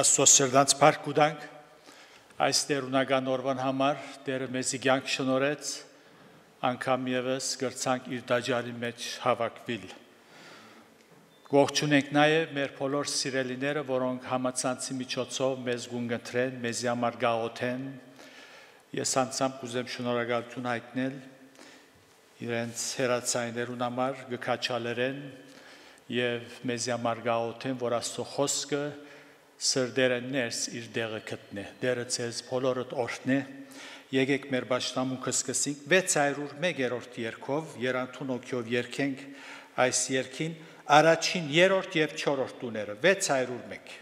Աստծո սրտանց փառք ունենք այս տերունական օրվան համար Տերը մեզի կյանք շնորհեց անգամ եւս գրցանք իր դաջարի մեջ հավաքվել Ողջունենք նաև մեր բոլոր սիրելիները, որոնք համացանցի միջոցով մեզ գունգընտրեն, մեզի համար գաղութեն Ես անձամբ կուզեմ շնորհակալություն հայտնել իրենց հերացայիններուն համար գքաչալերեն եւ մեզի համար գաղութեն, որ Աստծո խոսքը Սրդերը ներս իր դեղը գտնե, դերը ցեզ բոլորդ օրհնե, եկեք մեր պաշտամունքը սկսենք 601-րդ երգով, Երանթուն օքյով երգենք այս երգին, առաջին, երրորդ եւ չորրորդ տուները, 601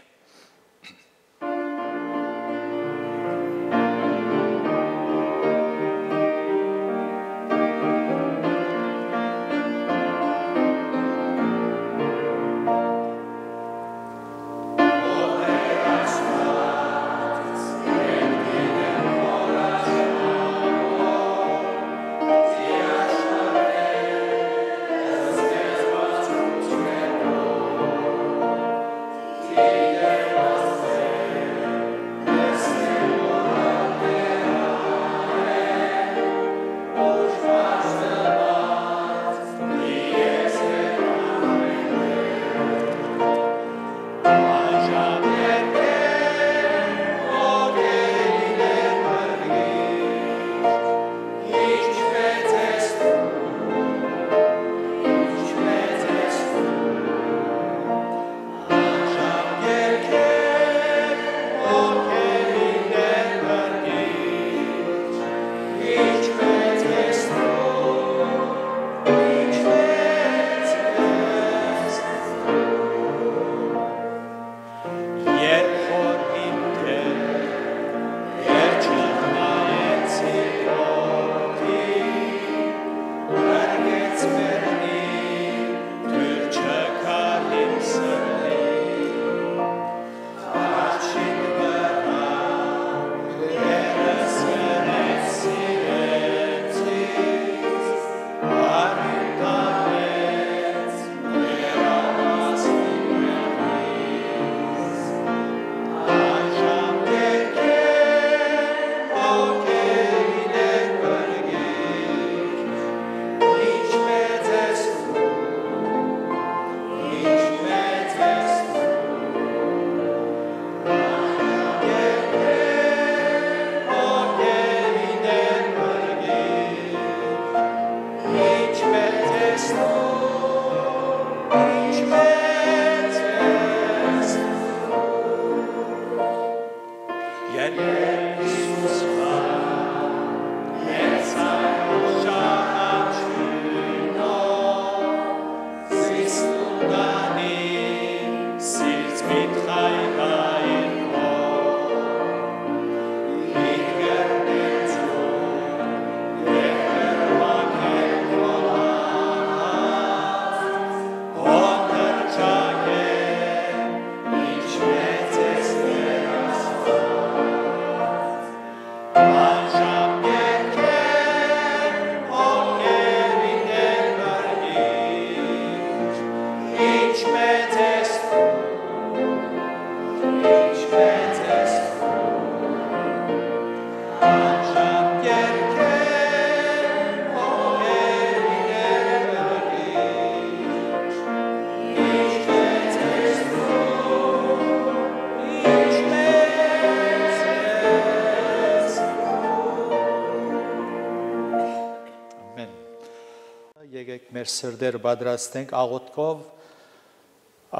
Մեր սրդերը պատրաստենք աղոթքով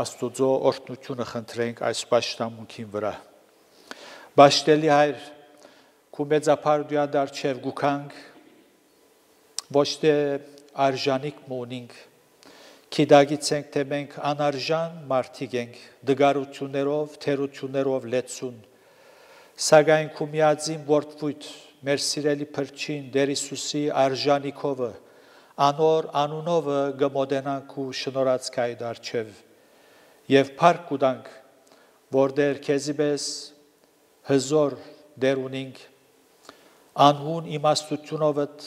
Աստուծո օրհնությունը խնդրենք այս պաշտամունքին վրա։ Բաշտելի Հայր, քու մեծափարության դարձև գուքանք, ոչ թե արժանիք մոնինք, քիդագիցենք թե մենք անարժան մարդիկ ենք, դգարություններով, թերություններով լեցուն, սակայն քու միածին որդվույթ, մեր սիրելի փրկին Տեր Հիսուսի արժանիքովը Անոր անունովը գմոդենանք ու շնորհացկայ դարչև եւ փառք կուտանք որ դեր քեզի պես հզոր դեր ունինք անհուն իմաստությունովդ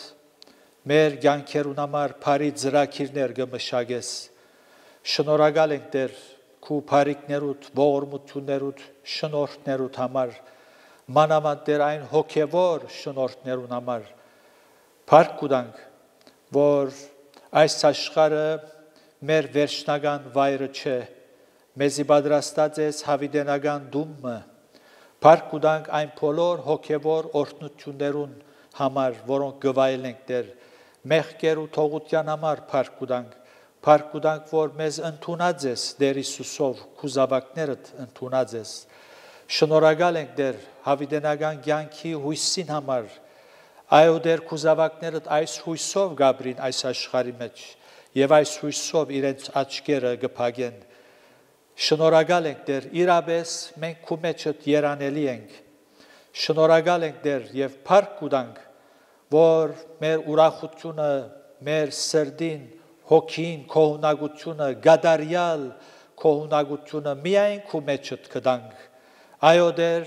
մեր կյանքերուն համար բարի ծրագիրներ կմշակես շնորհակալ ենք դեր քու բարիկներուդ, ողորմություններուդ, շնորհներուդ համար, մանավանդ դեր այն հոգևոր շնորհներուն համար, փառք կուտանք, որ այս աշխարհը մեր վերջնական վայրը չէ, մեզի պատրաստած ես հավիտենական դումը, փառք կուտանք այն բոլոր հոգևոր օրհնություններուն համար, որոնք գվայելենք դեր, մեղքեր ու թողության համար փառք կուտանք, որ մեզ ընդունած ես դեր Հիսուսով, քու զավակներդ ընդունած ես, շնորհակալ ենք դեր հավիտենական կյանքի հույսին համար, այո դեր քու զավակներդ այս հույսով գաբրին այս աշխարհի մեջ, եւ այս հույսով իրենց աչքերը գփագեն, շնորհակալ ենք դեր իրապես մենք քու մեջդ երանելի ենք, շնորհակալ ենք դեր եւ փառք կուտանք, որ մեր ուրախությունը, մեր սրդին, հոգին, քոհունակությունը, գադարյալ քոհունակությունը միայն քու մեջդ կդանք, այո դեր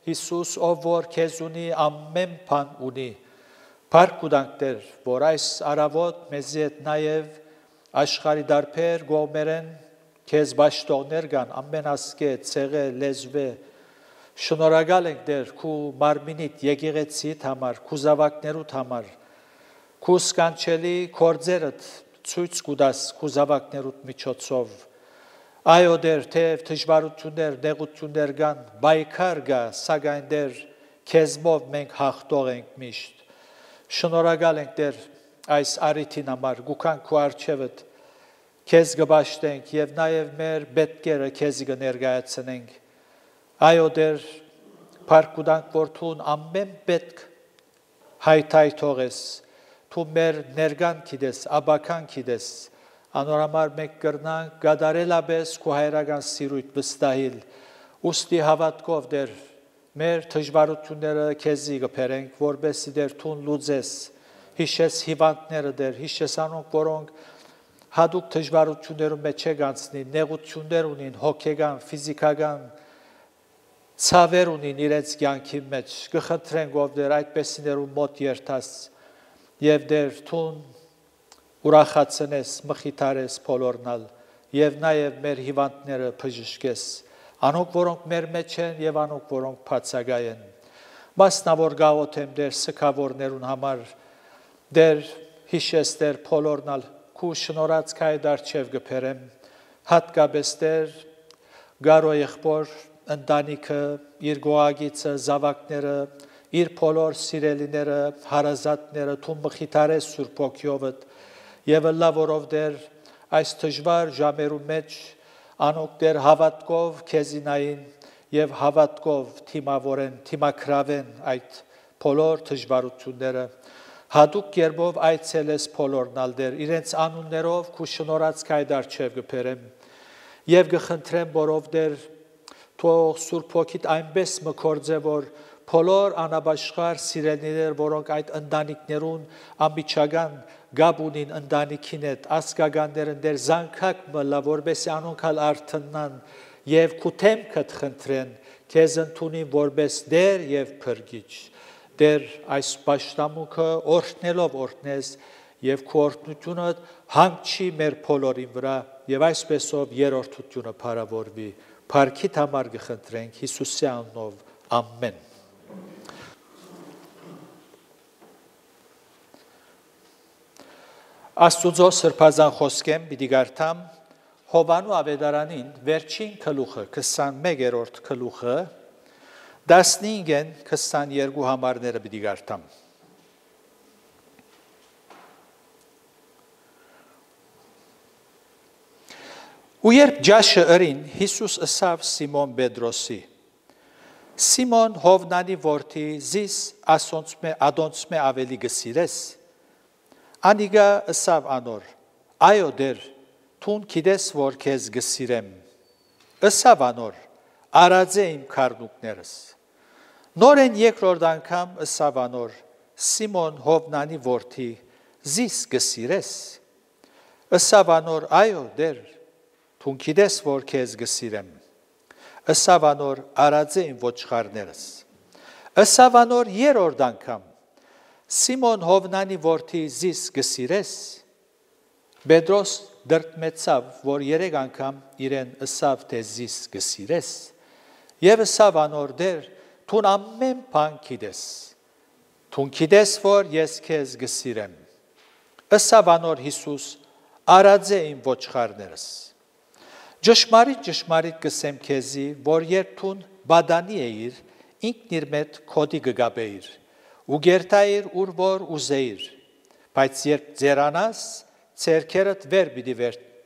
Հիսուս ով որ քեզ ունի ամեն բան ունի, փառք կուտանք դեր, որ այս արավոտ մեզի հետ նաեւ աշխարհի դարբեր գողմերեն քեզ բաշտողներ կան, ամեն ասկե, ցեղե, լեզվե, շնորհակալ ենք դեր քու մարմինիդ եկեղեցիդ համար, քու զավակներուդ համար, քու սկանչելի կորձերդ ցույց կուտաս քու զավակներուդ միջոցով, այո դեր թեև դժվարություններ, նեղություններ կան, բայկար կա, սակայն դեր քեզմով մենք հաղթող ենք միշտ, շնորհակալ ենք դեր այս արիթին համար, գուքան քու արջևդ քեզ գբաշտենք եւ նաեւ մեր պետքերը քեզ կներկայացնենք, այո դեր փառք կուտանք որ թուն ամեն պետք հայթայթող ես, թու մեր ներկան գիտես, աբական գիտես, անորամար մենք կրնանք գադարելապես քու հայրական սիրույթ վստահիլ, ուստի հավատքով դեր մեր դժվարությունները քեզի կբերենք, որբեսի դեր թուն լուծես, հիշես հիվանդները դեր, հիշես անոնք, որոնք հատուկ դժվարություններում մեջ չգանցնի, նեղություններ ունին, հոգեգան, ֆիզիկական ցավեր ունին իրենց կյանքի մեջ, կխնդրենք ով դեր այդպեսիներու մոտ երթաս եւ դեր թուն ուրախացնես, մխիթարես բոլորնալ եւ նաեւ մեր հիվանդները բժշկես, անոնք որոնք մեր մեջ են եւ անոնք որոնք բացակայ են, մասնավոր գաղութեմ դեր սքավորներուն համար, դեր հիշես դեր բոլորնալ քու շնորհած քայդ արչև գբերեմ, հատկապես դեր գարո եղբոր ընտանիքը, իր գոհագիցը, զավակները, իր բոլոր սիրելիները, հարազատները, թու մխիթարես Սուրբ Հոգիովդ եւ ըլլա որով դեր այս դժվար ժամերու մեջ անոնք դեր հավատքով քեզինային եւ հավատքով թիմավորեն, թիմակրավեն այդ բոլոր դժվարությունները հատուկ կերպով այցելես բոլորնալ դեր, իրենց անուններով քու շնորհած քայդ արչև գբերեմ եւ գխնդրեմ որով դեր թող Սուրբ Հոգիդ այնպես մկործե որ բոլոր անաբաշխար սիրելիներ, որոնք այդ ընտանիքներուն ամբիջական գաբ ունին ընտանիքին հետ, ասկագաններն դեր զանգակ մլա, որբեսի անոնք հալ արթնան եւ քութեմ կթխնդրեն, քեզ ընդունին որբես դեր եւ փրկիչ, դեր այս պաշտամունքը օրհնելով օրհնես եւ քո օրհնությունը հանգչի մեր բոլորին վրա եւ այսպեսով երրորդությունը փառավորվի, փառքիդ համար գխնդրենք Հիսուսի անունով, ամեն։ Աստուծո սրբազան խոսքեմ պիտի գարտամ Հովանու ավետարանին վերջին գլուխը 21-րդ գլուխը 15-ն 22 համարները պիտի գարտամ Ու երբ ջաշը ըրին Հիսուս ըսավ Սիմոն Պետրոսի Սիմոն Հովնանի որդի զիս ադոնցմե ավելի գսիրես Անիգա ըսավ անոր, այո դեր, թուն գիտես, որ քեզ գսիրեմ, ըսավ անոր, արածե իմ քառնուկներս, նորեն երկրորդ անգամ ըսավ անոր, Սիմոն Հովնանի որդի, զիս գսիրես, ըսավ անոր, այո դեր, թուն գիտես, որ քեզ գսիրեմ, ըսավ անոր, արածե իմ ոչխարներս, ըսավ անոր երրորդ անգամ, Սիմոն Հովնանի որդի զիս գսիրես, Պետրոս դրտմեցավ, որ 3 անգամ իրեն ըսավ, թե զիս գսիրես, եւ ըսավ անոր դեր, թուն ամեն բան գիտես, թուն գիտես, որ ես քեզ գսիրեմ, ըսավ անոր Հիսուս, արածե իմ ոչխարներս, ճշմարիտ կսեմ քեզի, որ երբ թուն բադանի էիր, ինքն իր մետ քոդի գգաբեիր, ու գերտայիր ուր որ ուզեիր, բայց երբ ձերանաս, ցերքերդ վեր պիտի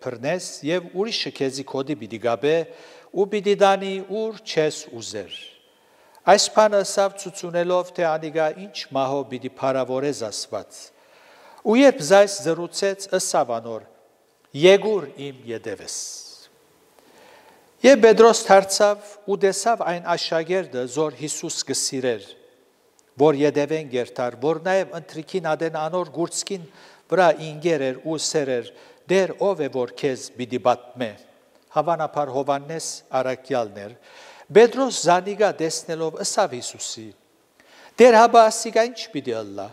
բռնես եւ ուրիշը քեզի քոդի պիտի գաբե ու պիտի դանի ուր չես ուզեր։ Այս բանը ասավ ցուցունելով, թե անիգա ինչ մահով պիտի փարավորես Աստված։ Ու երբ զայս զրուցեց, ըսավ անոր. Եկուր իմ ետևես։ Եվ Պետրոս դարձավ ու տեսավ այն աշակերտը, որ Հիսուս կսիրեր, որ ետևեն գերտար, որ նաև ընտրիկին ադեն անոր գուրցքին վրա ինգեր էր ու սերեր, դեր ով է որ քեզ պիտի պատմե, հավանաբար Հովհաննես առաքյալն էր, Պետրոս զանիգա տեսնելով ըսավ Հիսուսի, դեր հաբա ասիգա ինչ պիտի ըլլա,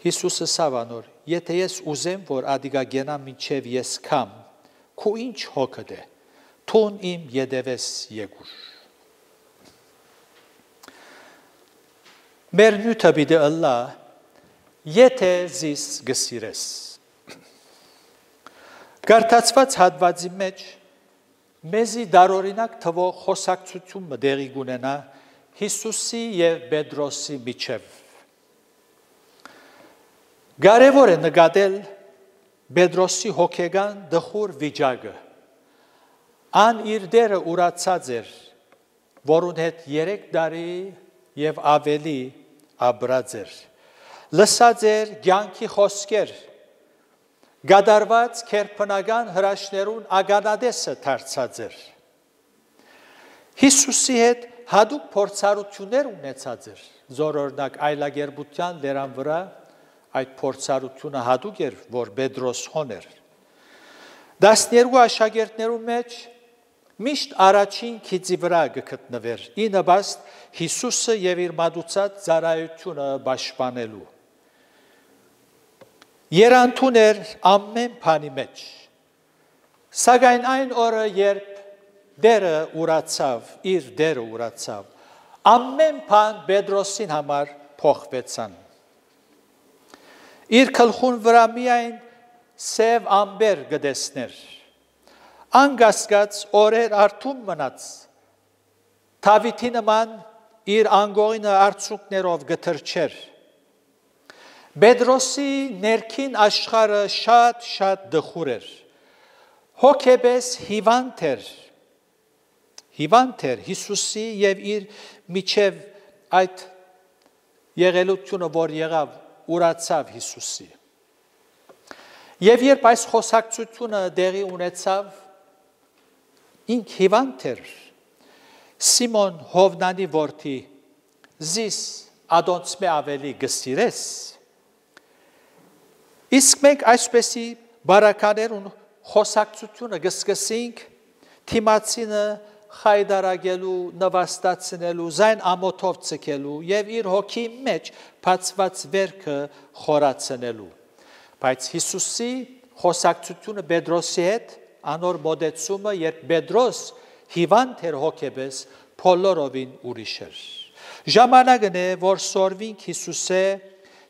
Հիսուս ըսավ անոր, եթե ես ուզեմ, որ ադիգա գենա մինչև ես կամ, քու ինչ հոգդ է, թուն իմ ետևես եկուր։ Մեր նյութը պիտի ըլլա, եթե զիս գսիրես։ Կարդացված հատվածի մեջ մեզի դարօրինակ թվող խոսակցությունը դեղի կունենա Հիսուսի եւ Պետրոսի միջև։ Կարևոր է նկատել Պետրոսի հոգեգան դխուր վիճակը։ Ան իր դերը ուրացած էր, որուն հետ 3 տարի եւ ավելի ապրած էր։ Լսած էր կյանքի խոսքեր, գադարված քերբնական հրաշներուն ագանադեսը դարձած էր։ Հիսուսի հետ հadoop փորձառություններ ունեցած էր, զորօրինակ այլագերբության լերան վրա այդ փորձառությունը հadoop էր, որ Պետրոս հոներ։ 12 աշակերտներու մեջ միշտ առաջին քիծի վրա գտնվեր, ի նպաստ Հիսուսը եւ իր մատուցած ծառայությունը պաշտպանելու։ Երանդուն էր ամեն բանի մեջ։ Սակայն այն օրը, երբ դերը ուրացավ, իր դերը ուրացավ, ամեն բան Պետրոսին համար փոխվեցան։ Իր գլխուն վրա միայն սև ամբեր գտեսներ։ Անգասկած օրեր արթուն մնաց, Դավիթի նման իր անգողինը արցունքներով գթրչեր։ Պետրոսի ներքին աշխարհը շատ դխուր էր, հոգեպես հիվանդ էր Հիսուսի եւ իր միջև այդ եղելությունը, որ եղավ, ուրացավ Հիսուսի։ Եվ երբ այս խոսակցությունը դեղի ունեցավ, ինք հիվանդ էր, Սիմոն Հովնանի որդի, զիս ադոնցմե ավելի գսիրես։ Իսկ մենք այսպեսի բարականերուն խոսակցությունը գսկսենք, թիմացինը խայդարագելու, նվաստացնելու, զայն ամոթով ցկելու եւ իր հոգի մեջ բացված վերքը խորացնելու։ Բայց Հիսուսի խոսակցությունը Պետրոսի հետ անոր մոդեցումը, երբ Պետրոս հիվանդ էր հոգեպես, բոլորովին ուրիշ էր։ Ժամանակն է, որ սորվինք Հիսուսե,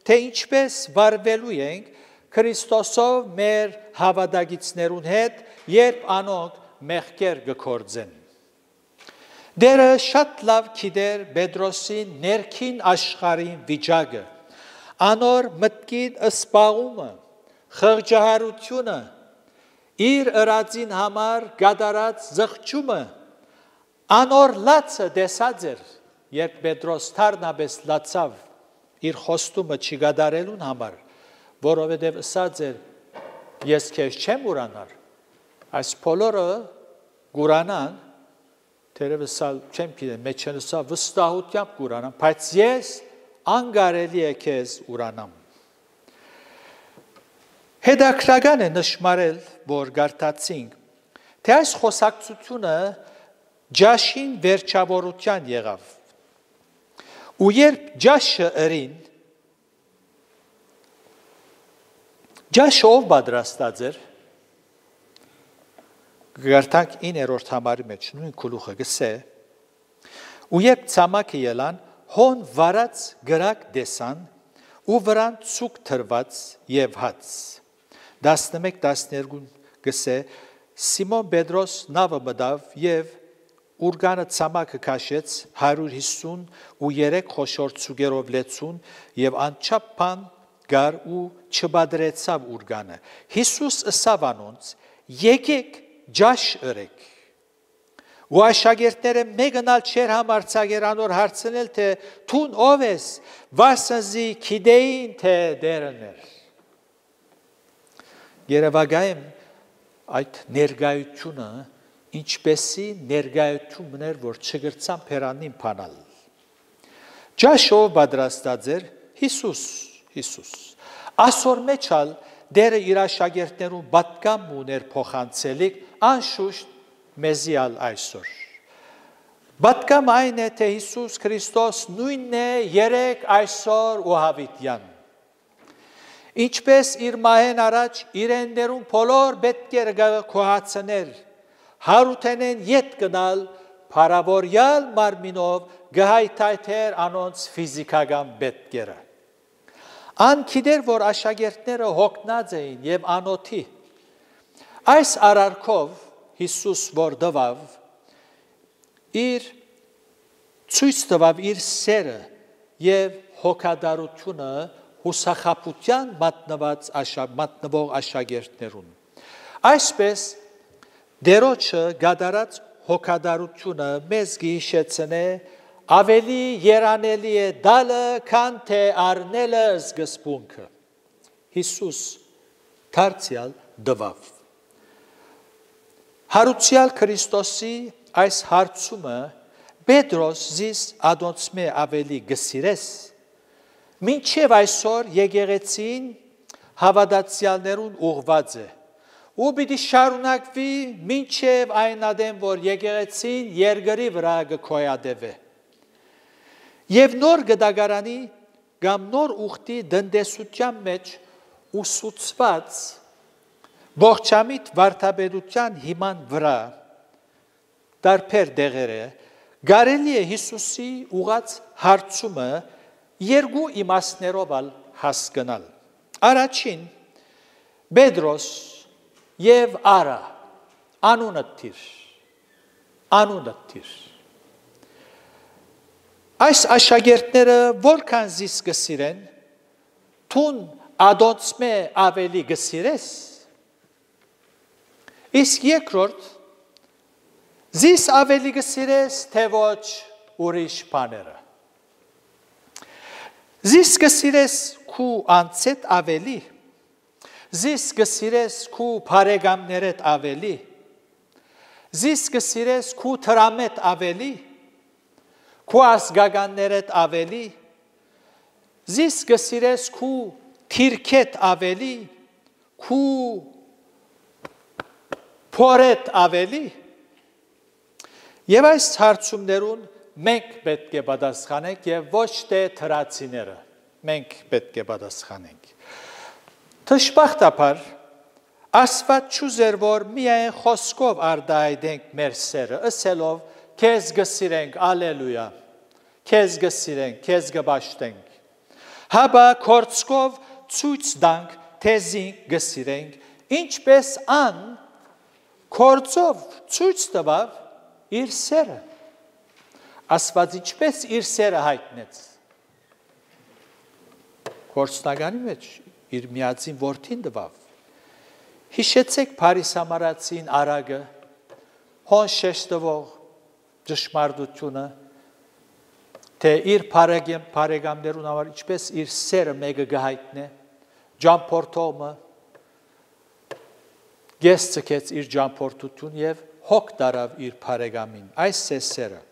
թե ինչպես վարվելու ենք Քրիստոսով մեր հավատագիցներուն հետ, երբ անոնք մեղքեր կգործեն։ Դերը շատ լավ գիտեր Պետրոսի ներքին աշխարհի վիճակը, անոր մտքին սպաղումը, խղճահարությունը, իր ըրածին համար գադարած զղջումը, անոր լացը դեսած էր, երբ Պետրոս թարնաբես լացավ իր խոստումը չգադարելուն համար, որովհետև ասած էր, ես քեզ չեմ ուրանար, այս բոլորը գուրանան, թերևս չեմ գիտեմ, մեջ են ասա վստահությամբ գուրանան, բայց ես անգարելի է քեզ ուրանամ։ Հետաքրքրական է նշмарել, որ գարտացինք, թե այս խոսակցությունը ջաշին վերջավորության եղավ։ Ու երբ ջաշը ըրին, ջաշը ով պատրաստած էր, Գարտանք 9-րդ համարի մեջ նույն գլուխը գսե ու երբ ցամաքը ելան հոն վարած գրակ դեսան ու վրան ցուկ թրված եւ հաց 11-12 գսե Սիմոն Պետրոս նավը մտավ եւ Ուրգանը ցամաքը քաշեց 153 խոշոր ցուգերով լեցուն եւ անչափ բան գար ու չբադրեցավ ուրգանը Հիսուս ըսավ անոնց եկեք ջաշ ըրեք ու աշակերտները մեկնալ չեր համարցակերանոր հարցնել թե թուն ով ես վասնզի գիտեին թե դերներ Երևակայեմ այդ ներգայությունը ինչպեսի ներգայություններ որ չգրցան փերանին փանալ Ջաշով պատրաստած էր Հիսուս ասոր մեջալ դերը իր աշակերտներուն պատկամ ուներ փոխանցելիք անշուշտ մեզիալ այսօր պատկամ այն է թե Հիսուս Քրիստոս նույնն է երեք այսօր ու հավիտյան ինչպես իր մահեն առաջ իրեններուն բոլոր պետքերը կոհացներ հարութենեն յետ գնալ փարավորյալ մարմինով գահայթայթեր անոնց ֆիզիկական պետքերը Ան գիտեր որ աշակերտները հոգնած էին եւ անոթի այս արարքով Հիսուս որ դվավ իր ցույց տվավ իր սերը եւ հոգադարությունը հուսախապության մատնվող աշակերտներուն այսպես Դերոջը գադարած հոգադարությունը մեզ գիշեցնե ավելի երանելի է դալը քան թե առնելը զգսպունքը Հիսուս դարձյալ դվավ Հարուցյալ Քրիստոսի այս հարցումը Պետրոս զիս ադոնցմե ավելի գսիրես մինչև այսօր եկեղեցին հավատացյալներուն ուղված է ու պիտի շարունակվի մինչև այն ադեմ որ եկեղեցին երկրի վրա գոյատևե եւ նոր գդագարանի կամ նոր ուխտի դնդեսության մեջ ուսուցված ողջամիտ վարդապետության հիման վրա դարբեր դեղերը գարելի է Հիսուսի ուղած հարցումը երկու իմաստներով հասկանալ առաջին Պետրոս Եվ արա, անունը թիր, Այս աշակերտները որքան զիս գսիրեն, թուն ադոնցմե ավելի գսիրես, իսկ երկրորդ, զիս ավելի գսիրես, թե ոչ ուրիշ բաները։ Զիս գսիրես քու անցետ ավելի, Զիս գսիրես քու բարեկամներդ ավելի, Զիս գսիրես քու տրամետ ավելի, քու ազգականներդ ավելի, Զիս գսիրես քու թիրքետ ավելի, քու փորետ ավելի, Եվ այս հարցումներուն մենք պետք է պատասխանենք եւ ոչ թե թրացիները, մենք պետք է պատասխանենք։ Թշպախտապար, ասված չուզեր, որ միայն խոսքով արդայդենք մեր սերը, ասելով, քեզ գսիրենք, ալելույա, քեզ գսիրենք, քեզ գբաշտենք, հաբա կործքով ցույց տանք, թե զինք գսիրենք, ինչպես ան կործով ցույց տվավ իր սերը, ասված ինչպես իր սերը հայտնեց, կործնականի մեջ, իր միածին որդին դվավ, հիշեցեք Փարիսամարացին արագը, հոն շեշտվող ճշմարտությունը, թե իր բարեկամներուն համար ինչպես իր սերը մեկը գահայտնե, ջամփորդողը, գես ցկեց իր ջամփորդություն եւ հոգ դարավ իր բարեկամին, այս է սերը։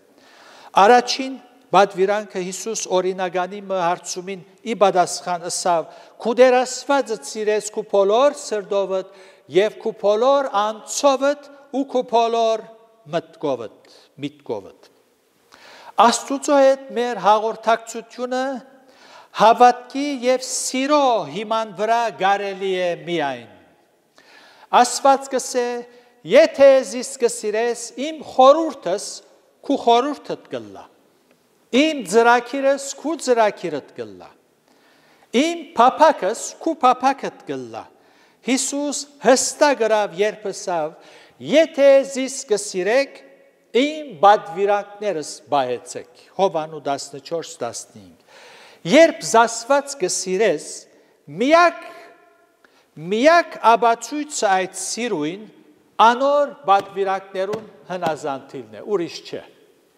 Առաջին Բադվիրանքը Հիսուս օրինագանի հարցումին ի պատասխան ըսավ, քու դերասվածը ծիրես քու բոլոր սրդովդ եւ քու բոլոր անցովդ ու քու բոլոր մտքովդ։ Աստուծո հետ մեր հաղորդակցությունը հավատքի եւ սիրո հիման վրա կարելի է միայն։ Աստված կսե եթե զիս կսիրես, իմ խորհուրդս քու խորհուրդդ կլա, իմ ծրագիրս քու ծրագիրդ կլա, իմ փափակս քու փափակդ կլա։ Հիսուս հստակ գրավ երբսավ, եթե զիս կսիրեք, իմ բադվիրանքներս բայեցեք։ Հովանու 14-15։ Երբ զասված կսիրես, միակ աբացույցը այդ սիրույն անոր բադվիրանքներուն հնազանդիլն է, ուրիշ չէ։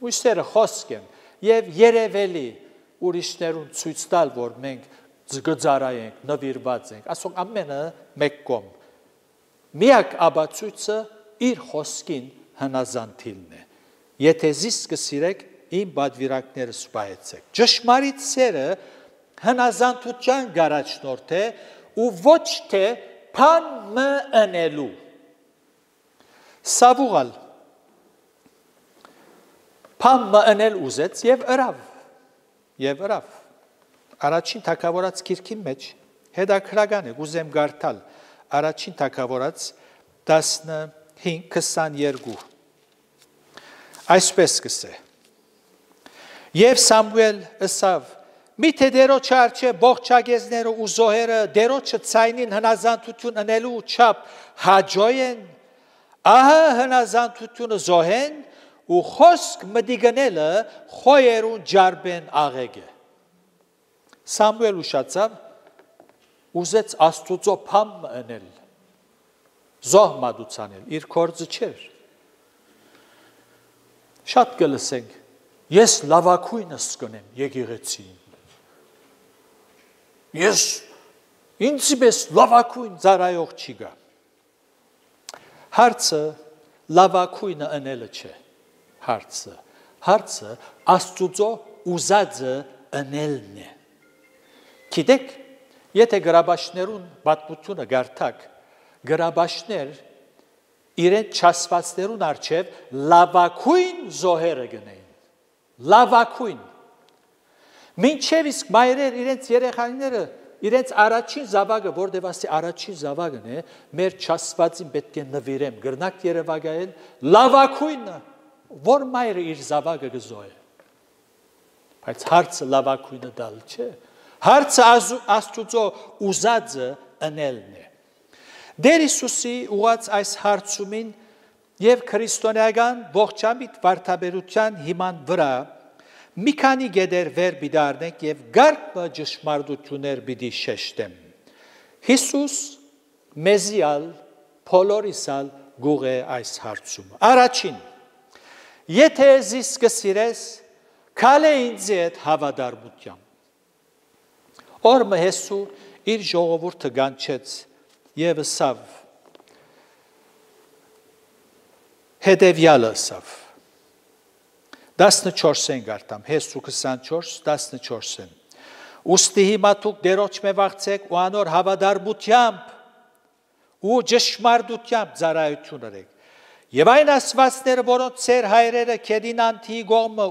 Ույսերը խոսք են եւ երևելի ուրիշներուն ցույց տալ, որ մենք գծարայենք, նվիրված ենք, ասոնք ամենը մեկ կողմ։ Միակ աբացույցը իր խոսքին հնազանդիլն է։ Եթե զիս կսիրեք, իմ բադվիրանքներս բայեցեք։ Ճշմարիտ սերը հնազանդության գարաչնորդ է ու ոչ թե փան մընելու։ Սավուղալ փան մընել ուզեց եւ ըրավ։ Առաջին թագավորաց գիրքի մեջ հետաքրական է, ուզեմ գարտալ առաջին թագավորաց 15:22 այսպես կսե եւ Սամուել ըսավ միթե դերոջ արչե բողջագեզները ու զոհերը դերոջը ցայնին հնազանդություն անելու չափ հաջոյեն ահա հնազանդությունը զոհեն ու խոսք մդիգնելը խոյերուն ջարբեն աղեգե Սամուել ուշացավ ուզեց Աստուծո փամ անել զոհ մատուցանել իր կորձը չէր շատ կլսենք ես լավակույնս կնեմ եկեղեցին ես ինձպես լավակույն ծառայող չի գա հարցը լավակույնը անելը չէ հարցը Աստուծո ուզածը անելն է Գիտեք, եթե գրաբաշներուն պատմությունը գարտակ, գրաբաշներ իրեն չասվածներուն արջև լավակույն զոհերը գնեին, լավակույն։ Մինչև իսկ մայրեր իրենց երեխաները, իրենց առաջին զավակը, որտև ասի առաջին զավակն է, մեր չասվածին պետք է նվիրեմ, գրնակ երևակայել, լավակույնը, որ մայրը իր զավակը գզոհ է։ Բայց հարցը լավակույնը դալ չէ։ Հարցը Աստուծո ուզածը անելն է։ Դեր Հիսուսի ուղած այս հարցումին եւ քրիստոնեական ողջամիտ վարդապետության հիման վրա մի քանի գեդեր վեր բիդարնենք եւ գարկ ճշմարտություններ պիտի շեշտեմ։ Հիսուս մեզիալ փոլորիսալ գուղ է այս հարցումը։ Առաջին եթե զիս կսիրես քալե ինձ հետ հավատարմությամբ Օրմը Հեսու իր ժողովուրդը գանչեց եւ ըսավ հետեւյալը ըսավ 14-ին գարտամ Հեսու 24-14 Ուստի հիմա դուք դերոջ մե վաղցեք ու անոր հավատարմությամբ ու ճշմարտությամբ ծառայություն արեք եւ այն ասվածները որոնց ծեր հայրերը Քեդինանթի գոմը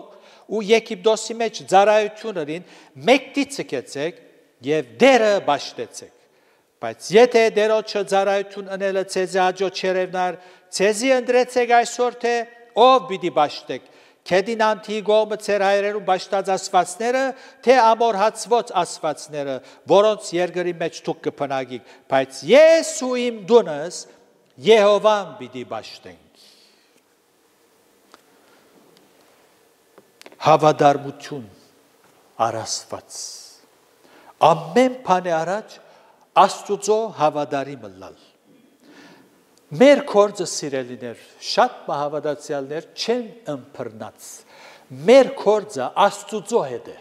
ու Եգիպտոսի մեջ ծառայություն արին մեկտից ցկեցեք Եվ դերը բաշտեցեք, բայց եթե դերոջը ծառայություն անելը ցեզի աջո չերևնար, ցեզի ընդրեցեք այսօր թե ով պիտի բաշտեք, Քեդինանթի գոմը ծեր հայրերուն բաշտած ասվածները, թե ամորհացված ասվածները, որոնց երկրի մեջ դուք կփնագիք, բայց ես ու իմ դունս Եհովան պիտի բաշտենք։ Հավատարմություն առասված Ամեն բանի առաջ Աստուծո հավատարիմ լալ։ Մեր կորձը սիրելիներ, շատ մահավատացյալներ չեն ըմբռնած։ Մեր կորձը Աստուծո հետ է։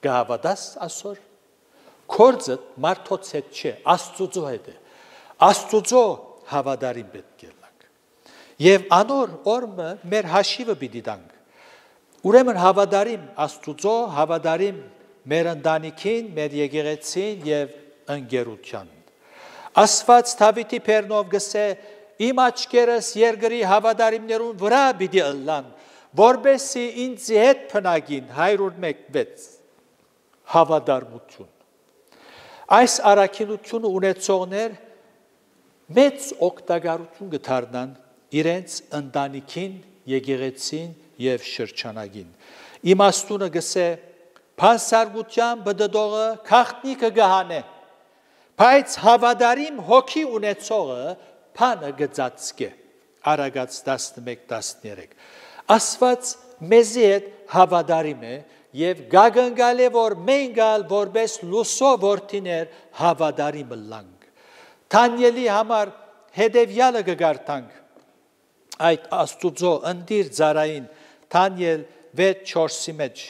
Գահավատաս ասոր։ Կորձը մարդոց հետ չէ, Աստուծո հետ է։ Աստուծո հավատարիմ պետք է լանք։ Եվ անոր օրը մեր հաշիվը պիտի տանք։ Ուրեմն հավատարիմ Աստուծո, հավատարիմ մեր ընտանիքին, մեր եկեղեցին եւ ընկերության։ Աստված Դավիթի բերնով գսե իմ աչքերս երկրի հավատարիմներուն վրա պիտի ըլլան, որբեսի ինձ հետ փնագին 101 հավատարմություն։ Այս առաքինությունը ունեցողներ մեծ օգտագործություն կդառնան իրենց ընտանիքին, եկեղեցին եւ շրջանագին։ Իմաստունը գսե փանսարգության բդդողը քաղտնիկը գահանե, բայց հավատարիմ հոգի ունեցողը փանը գծածկե։ Արագած 11-13 Աստված մեզի հետ հավատարիմ է եւ գագնգալ է որ մենք ալ որպես լուսո որդիներ հավատարիմ լանք։ Դանիելի համար հետևյալը կգարտանք այդ Աստուծո ընդիր ծարային Դանիել 6:4-ի մեջ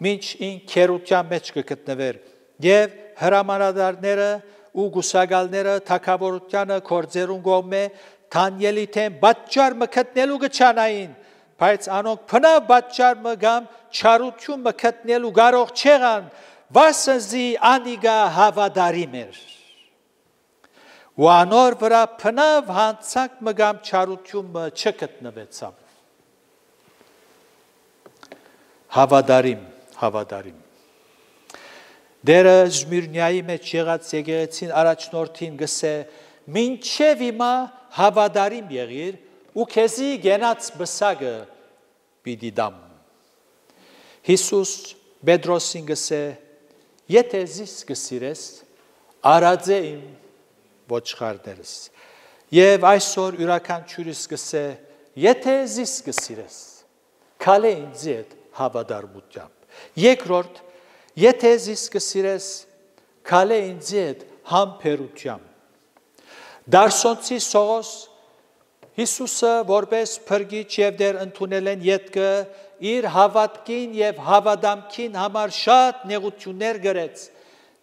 մինչ ինքերության մեջ կգտնվեր եւ հրամանատարները ու գուսակալները թակավորությանը կորձերուն գոմե Դանիելի թեմ պատճառ մկտնելու գչանային բայց անոնք փնավ պատճառ մգամ չարություն մկտնելու կարող չեղան վասնզի անիգա հավատարիմ էր ու անոր վրա փնավ հանցանք մգամ չարություն չգտնվեցավ հավատարիմ Դերը Զմիրնիայի մեջ եղած եկեղեցին առաջնորդին գսե մինչև հիմա հավատարիմ եղիր ու քեզի գենաց բսակը պիտի դամ Հիսուս Պետրոսին գսե եթե զիս գսիրես արածե իմ ոչխարներս եւ այսօր յուրաքանչյուրիս գսե եթե զիս գսիրես քալե ինձ հետ հավատարմությամբ երկրորդ եթե զիս գսիրես քալե ինձ հետ համբերությամբ Դարսոնցի Սողոս Հիսուսը որպես փրկիչ եւ դեր ընդունել են յետքը իր հավատքին եւ հավադամքին համար շատ նեղություններ գրեց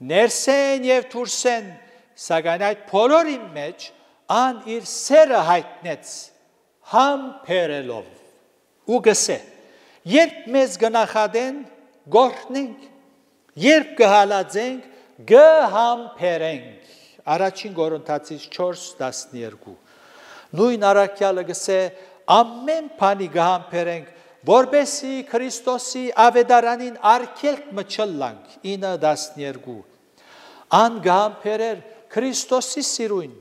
ներսեն եւ դուրսեն սակայն այդ բոլորի մեջ ան իր սերը հայտնեց համբերելով ու գսե երբ մեզ գնախադեն գորտնենք երբ կհալածենք գհամբերենք առաջին Կորինթացիս 4:12 Նույն առաքյալը գսե ամեն բանի գհամբերենք որբեսի Քրիստոսի ավետարանին արգելք մչլանք 9:12 Ան գհամբերեր Քրիստոսի սիրուն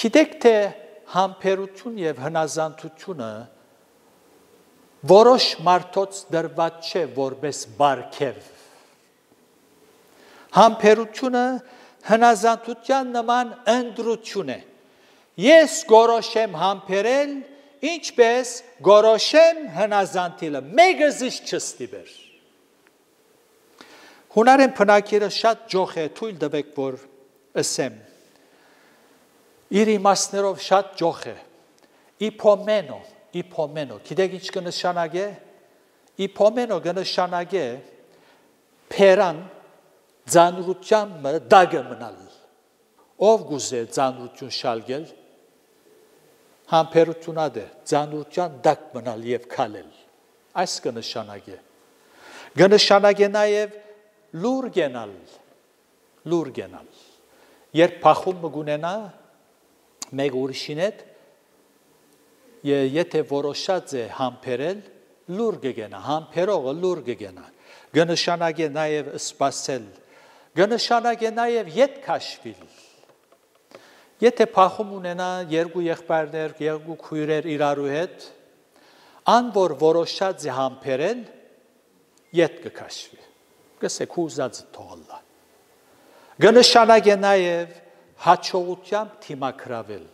Գիտեք թե համբերություն եւ հնազանդությունը որոշ մարդոց դրված չէ որպես բարգև Համբերությունը հնազանդության նման ընդրություն է Ես գորոշեմ համբերել ինչպես գորոշեմ հնազանդիլը մեկը զիս չստիբեր Հունարեն բնակիրը շատ ջոխ է թույլ տվեք որ ասեմ իր իմաստներով շատ ջոխ է իփոմենո գիտեք ինչ կնշանակե իփոմենո կնշանակե փերան ծանրությամբ դագը մնալ ով գուզե ծանրություն շալգել համբերություն ադե ծանրության դակ մնալ եւ քալել այս կնշանակե կնշանակե նաեւ լուր գենալ երբ փախում մգունենա մեկ ուրիշին հետ եթե որոշած է համբերել լուր կգենա համբերողը լուր կգենա կնշանակե նաեւ սպասել կնշանակե նաեւ յետ քաշվել Եթե փախում ունենա երկու եղբայրներ, երկու քույրեր իրարու հետ, ան որ որոշած է համբերել, յետ կքաշվի։ Գսեք ուզածը թողլա։ Կնշանակե նաև հաջողությամբ թիմակրավել։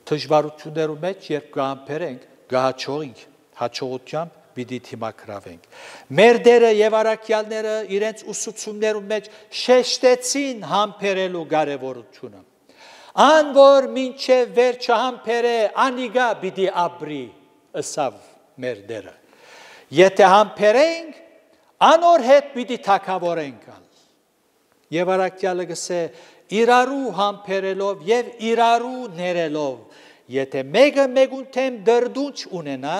Դժվարություններու մեջ երբ կհամբերենք, կհաջողենք, հաջողությամբ պիտի թիմակրավենք։ Մեր դերը եւ առաքյալները իրենց ուսուցումներու մեջ շեշտեցին համբերելու կարեւորությունը։ Ան որ մինչև վերջը համբերե անիգա պիտի ապրի ըսավ մեր դերը։ Եթե համբերենք, անոր հետ պիտի թակավորենք ալ։ Եվ առաքյալը գսե իրարու համբերելով եւ իրարու ներելով, եթե մեկը մեկուն թեմ դրդունչ ունենա,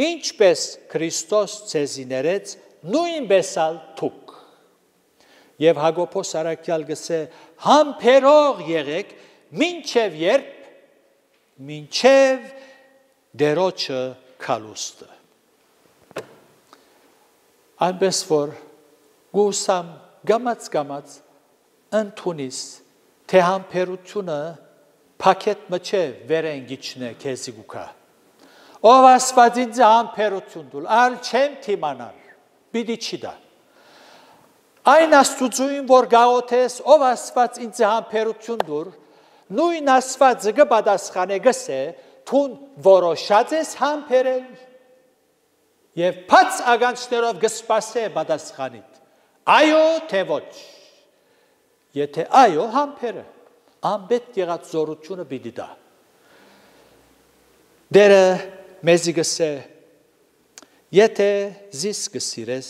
ինչպես Քրիստոս ցեզի ներեց, նույնպես ալ թուք։ Եվ Հակոբոս առաքյալ գսե համբերող եղեք մինչև երբ մինչև դերոջը քալուստը այնպես որ գուսամ գամած ընդունիս թե համբերությունը փակետ մչե վերեն գիչնե քեզի գուքա ով Աստված ինձ համբերություն դուլ ալ չեմ թիմանալ պիտի չի դա այն Աստուծույն որ գաղոթես ով Աստված ինձ համբերություն դուր նույն Աստվածը կպատասխանե գսե թուն որոշած ես համբերել եւ բաց ագանցներով կսպասե պատասխանիդ այո թե ոչ եթե այո համբերը անպետք եղած զորությունը պիտի դա դերը մեզի գսե եթե զիս կսիրես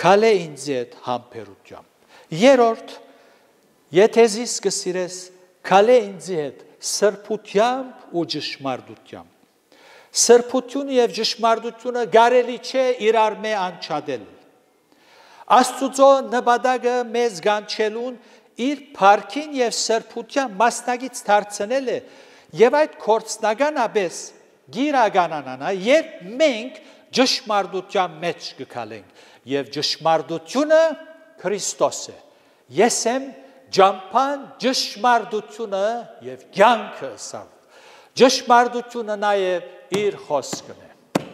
քալե ինձ հետ համբերությամբ երրորդ եթե զիս կսիրես քալե ինձ հետ սրբությամբ ու ճշմարտությամբ սրբությունը եւ ճշմարտությունը գարելի չէ իրար մե անչադել Աստուծո նպատակը մեզ գանչելուն իր փառքին եւ սրբության մասնագից դարձնել է եւ այդ կորցնականապես գիրականանա երբ մենք ճշմարտության մեջ կգալենք եւ ճշմարտությունը Քրիստոս է ես եմ ջամփան ճշմարտությունը եւ կյանքը սավ ճշմարտությունը նաեւ իր խոսքն է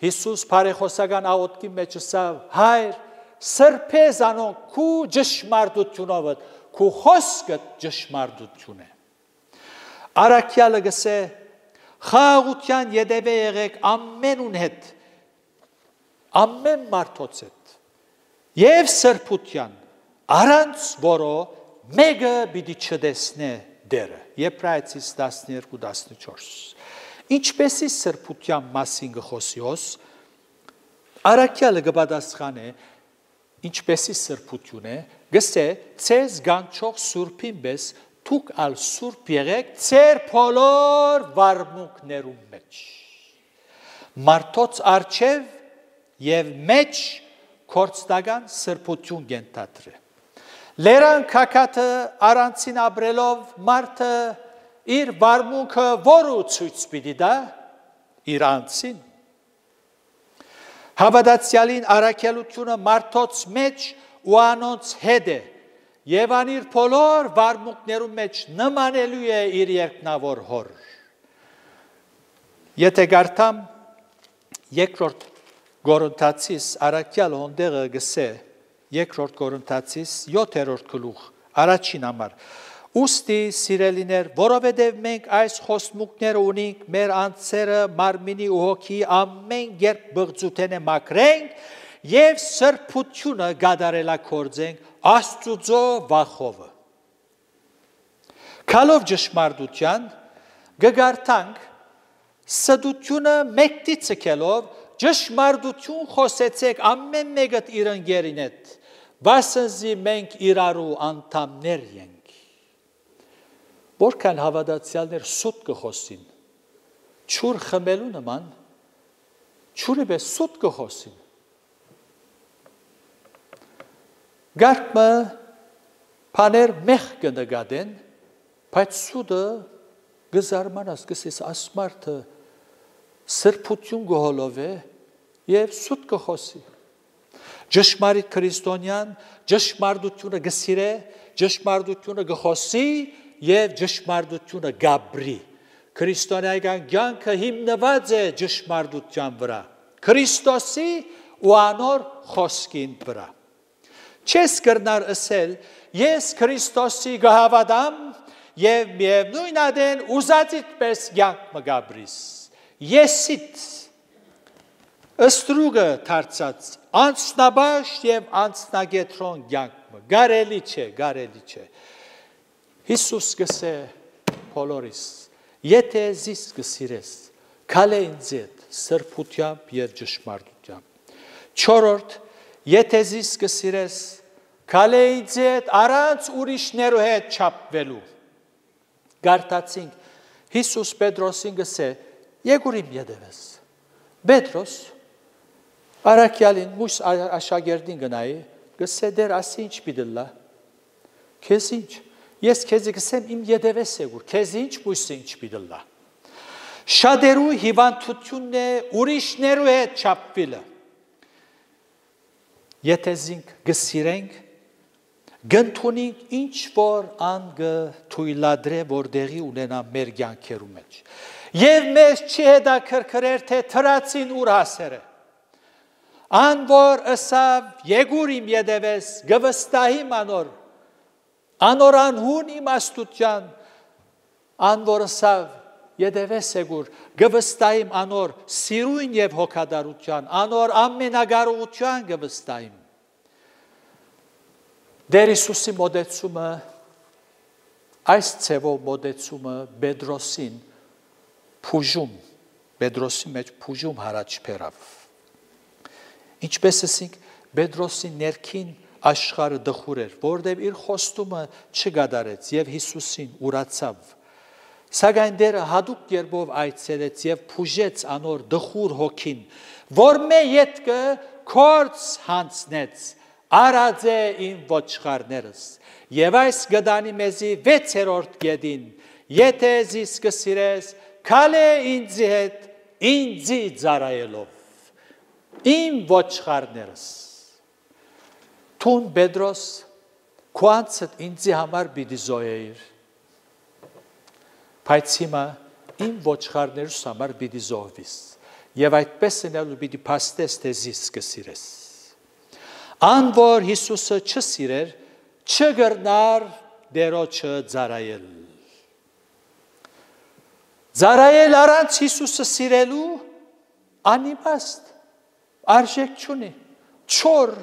Հիսուս բարեխոսական աղոթքի մեջ ասավ հայր սրբես անոն քու ճշմարտությունով քու խոսքը ճշմարտություն է Արաքյալը գսե խաղաղության յետևե եղեք ամենուն հետ ամեն մարդոց հետ եւ սրբության առանց որո մեկը պիտի չտեսնե դերը Եբրայեցիս 12:14 Ինչպեսի սրբության մասին գխոսիոս Արաքյալը կպատասխանե ինչպեսի սրբություն է գսե ցեզ գանչող սուրբին պես դուք ալ սուրբ եղեք ձեր բոլոր վարմունքներում մեջ մարդոց արչև եւ մեջ կորցնական սրբություն գենտատրե լերան քակաթը առանցին ապրելով մարդը իր վարմունքը որու ցույց պիտի դա իր անձին Հավատացյալին առաքելությունը մարդոց մեջ ու անոնց հետ է եւ անիր բոլոր վարմունքներում մեջ նմանելու է իր երկնավոր հոր Եթե գարտամ երկրորդ Գորընթացիս առաքյալ հոնդեղը գսե երկրորդ Գորընթացիս 7-րդ գլուխ առաջին համար Ուստի սիրելիներ, որովհետև մենք այս խոստմունքները ունենք մեր անձերը մարմինի ու հոգի ամեն երբ բղծութենե մաքրենք եւ սրբությունը գադարելակորձենք Աստուծո վախովը։ Քալով ճշմարտության գգարտանք սդությունը մեկտի ցկելով ճշմարտություն խոսեցեք ամեն մեկը իր ընկերին հետ, վասնզի մենք իրարու անդամներ ենք։ Որքան հավատացյալներ սուտ կխոսին, չուր խմելու նման, չուրի պես սուտ կխոսին։ Գարկմը պաներ մեղ կնգադեն, բայց սուտը գզարմանաս կսես ասմարդը սրբություն գողոլով է և սուտ կխոսի։ Ճշմարիտ քրիստոնյան ճշմարտությունը գսիրե, ճշմարտությունը գխոսի և ճշմարտությունը գաբրի։ Քրիստոնեական կյանքը հիմնված է ճշմարտության վրա, Քրիստոսի ու անոր խոսքին վրա։ Չես կրնար ասել, ես Քրիստոսի գհավատամ և միևնույն ադեն ուզածիդ պես կյանք մգաբրիս։ Եսիդ ըստրուգը թարցած անցնաբաշ և անցնագետրոն կյանք գարելի չէ։ Հիսուս գսե բոլորիս, եթե զիս գսիրես, կալե ինձ հետ սրբությամբ և ճշմարտությամբ։ Չորրորդ, եթե զիս գսիրես, կալե ինձ հետ առանց ուրիշներու հետ չապվելու։ Գարտացինք, Հիսուս Պետրոսին գսե, եկուր իմ ետևես։ Պետրոս, առաքյալին մույս աշակերտին գնայի, գսե դեր ասի ինչ պիտելլա, քեզ ինչ, ես քեզ գսեմ իմ ետևես եկուր, քեզ ինչ մույսը ինչ պիտելլա։ Շատերու հիվանդությունն է ուրիշներու հետ չապվելը։ Եթե զինք գսիրենք, գնթունինք ինչ որ անգը թույլադրե որ դեղի ունենա մեր կյանքերու մեջ եւ մեզ չի հետաքրքրեր թե թրացին ուր հասերը ան որ ըսավ եկուր իմ յետևես գվստահիմ անոր անհուն իմաստության ան որ ըսավ յետևես եկուր գվստահիմ անոր սիրուն եւ հոգադարության անոր ամենագարողության գվստահիմ Դեր Հիսուսի մոդեցումը այս ցևով մոդեցումը Պետրոսին փուժում Պետրոսի մեջ փուժում հարաճ բերավ Ինչպես ասենք Պետրոսի ներքին աշխարհը դխուր էր որտեղ իր խոստումը չգադարեց եւ Հիսուսին ուրացավ Սակայն դերը հadoop երբով այցելեց եւ փուժեց անոր դխուր հոգին որ մե յետքը կորց հանցնեց Արած է իմ ոչխարներս, և այս գդանի մեզի 6-րդ գետին, եթե զիս կսիրես, կալ է ինձի հետ, ինձի ծառայելով, իմ ոչխարներս։ Թուն Պետրոս, քուանցդ ինձի համար պիտի զոհեիր, բայց հիմա իմ ոչխարներս համար պիտի զոհվիս, և այդպես ընելու պիտի փաստես, թե զիս կսիրես։ Ան որ Հիսուսը չսիրեր, չգրնար դերոջը ծառայել։ Ծառայել առանց Հիսուսը սիրելու անիմաստ, արժեք չունի, չոր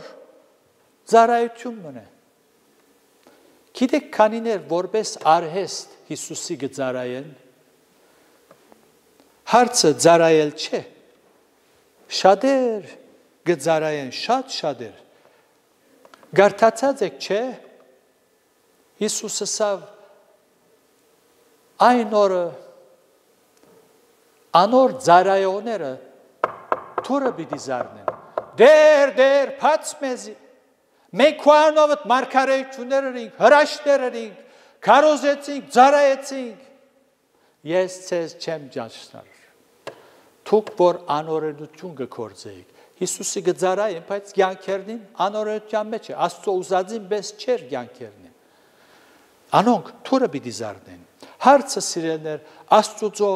ծառայություն մնե։ Գիտեք քանիներ որպես արհեստ Հիսուսի կծառայեն, հարցը ծառայել չէ, շատեր կծառայեն, շատեր Գարտացած եք չէ, Հիսուսը սավ այն օրը անոր ծառայողները թուրը պիտի զարնեն, դեր պաց մեզի, մենք քուանովդ մարգարեություններ էինք, հրաշներ էինք, քարոզեցինք, ծառայեցինք, ես ցեզ չեմ ճանչնար, թուք որ անօրենություն կգործեիք, Հիսուսի գծարային, բայց կյանքերնին անօրենության մեջ է, Աստծո ուզածին պես չէր կյանքերնին։ Անոնք թուրը պիտի զարնեն։ Հարցը սիրելներ Աստծո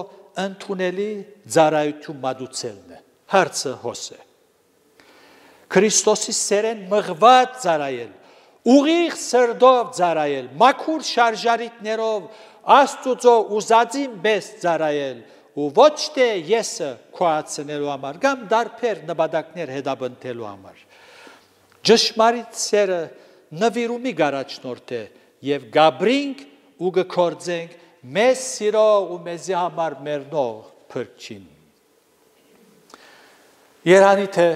ընդունելի ծառայություն մատուցելն է։ Հարցը հոս է։ Քրիստոսի սերեն մղված ծառայել, ուղիղ սրտով ծառայել, մաքուր շարժարիտներով Աստծո ուզածին պես ծառայել ու ոչ թե եսը քոացնելու համար, կամ դարբեր նպատակներ հետապնդելու համար։ Ճշմարիտ սերը նվիրումի գարաչնորդ է եւ գաբրինք ու գործենք մեզ սիրող ու մեզի համար մեռնող փրկչին։ Երանի թե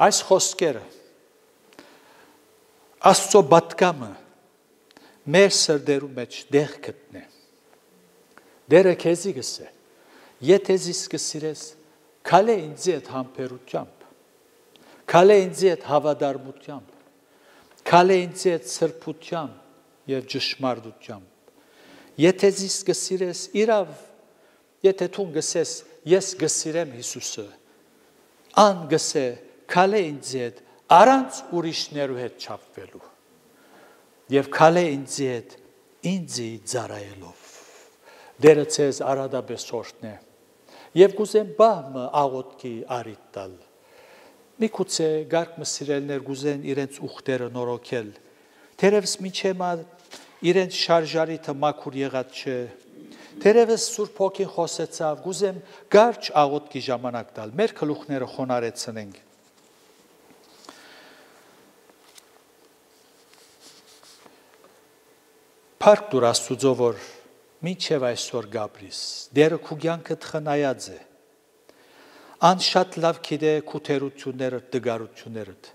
այս խոսքերը Աստծո պատկամը մեր սրտերու մեջ դեղ գտնե։ Դերը քեզի գսե, եթե զիս կսիրես, կալ է ինձի հետ համբերությամբ, կալ է ինձի հետ հավատարմությամբ, կալ է ինձի հետ սրբությամբ և ճշմարտությամբ, եթե զիս կսիրես, իրավ, եթե թուն գսես, ես գսիրեմ Հիսուսը, ան գսե, կալ է ինձի հետ, առանց ուրիշներու հետ չապվելու, և կալ է ինձի հետ, ինձի ծառայելով։ Դերը ցեզ արադաբես օրհնե եւ գուզեմ բահմը աղոտքի արիտ տալ միգուցե գարկմը սիրելներ գուզեն իրենց ուխտերը նորոգել թերևս միջեմա իրենց շարժարիթը մաքուր եղած չէ թերևս Սուրբ Հոգին խոսեցավ գուզեմ գարչ աղոտքի ժամանակ տալ մեր գլուխները խոնարեցնենք Փառք դուր Աստուծո որ Մինչև այսօր գաբրիս, դերը քու կյանքդ խնայած է, ան շատ լավ գիտե քու թերություններդ, դգարություններդ,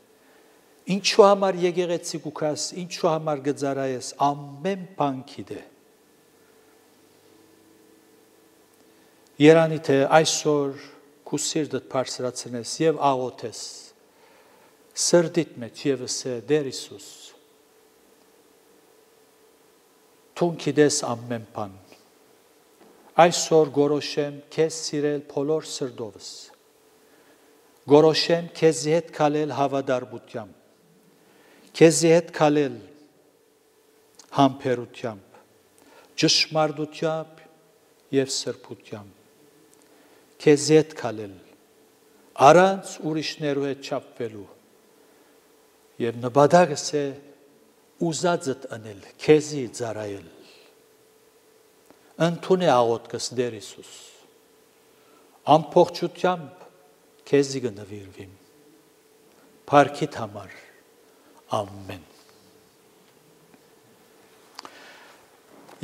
ինչու համար եկեղեցի կուքաս, ինչու համար գծարայես, ամեն բան գիտե։ Երանի թե այսօր քու սիրտդ բարձրացնես եւ աղոթես, սրտիդ մեջ եւս է Դեր Հիսուս, Թուն գիտես ամեն բան, այսօր գորոշեմ քեզ սիրել բոլոր սրտովս, գորոշեմ քեզի հետ քալել հավատարմությամբ, քեզի հետ քալել համբերությամբ, ճշմարտությամբ եւ սրբությամբ, քեզի հետ քալել առանց ուրիշներու հետ չափվելու եւ նպատակս է ուզածդ անել, քեզի ծառայել։ Ընդունե աղոթքս Տեր Հիսուս, ամբողջությամբ քեզի կնվիրվիմ, փառքիդ համար, ամեն։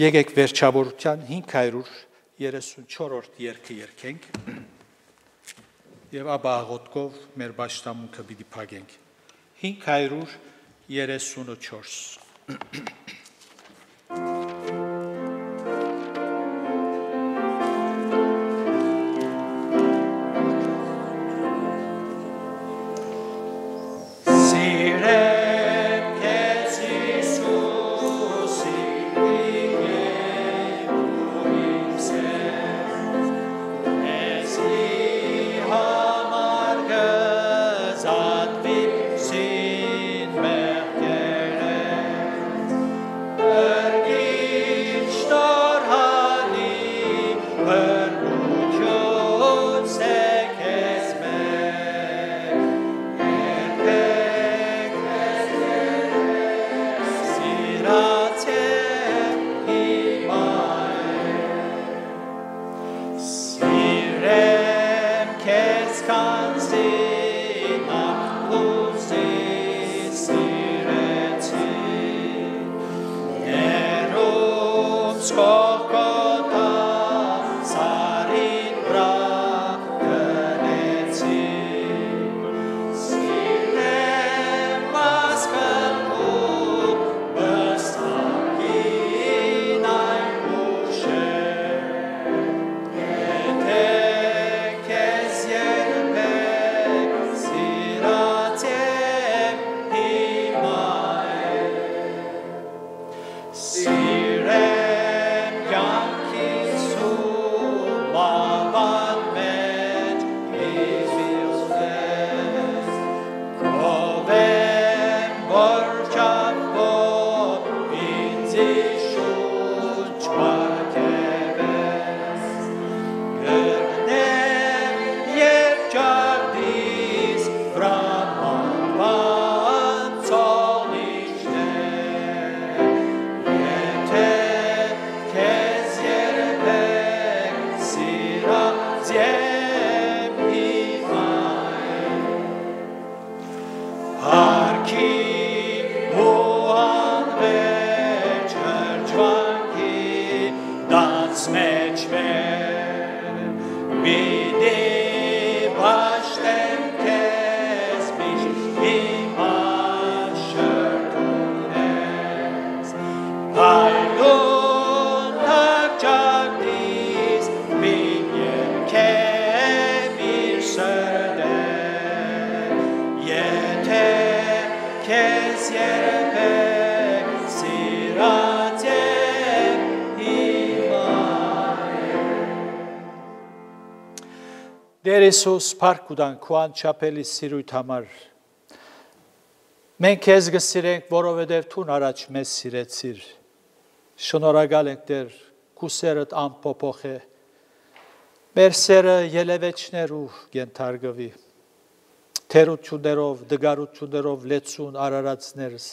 Եկեք վերջավորության 534-րդ երգը երգենք եւ ապա աղոթքով մեր պաշտամունքը պիտի փակենք։ 534 Տեր Հիսուս փառք ուտանք քո անչափելի սիրույթ համար։ Մենք քեզ գսիրենք, որովհետև դու առաջ մեզ սիրեցիր։ Շնորհակալ ենք Տեր, քո սերդ անփոփոխ է։ Մեր սերը ելևեչներու կենթարկվի։ Թերություններով, դգարություններով լեցուն արարածներս։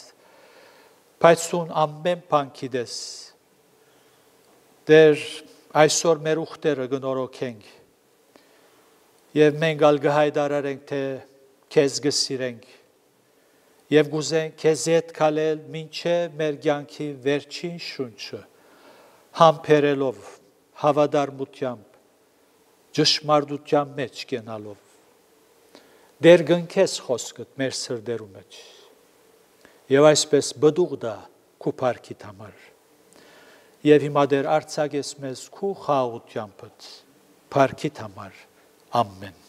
Բայց դու ամեն բան գիտես։ Տեր, այսօր մեր ուխտերը գնորոքենք։ Եվ մենք ալգահայդարարենք, թե քեզ գսիրենք և գուզենք քեզ հետ քալել մինչև մեր կյանքի վերջին շունչը, համբերելով, հավատարմությամբ, ճշմարտության մեջ կենալով, դեր գնքես խոսքդ մեր սրտերու մեջ և այսպես բդուղ դա քու փառքիդ համար և հիմա դեր արձակես մեզ քու խաղաղությանդ փառքիդ համար Amen.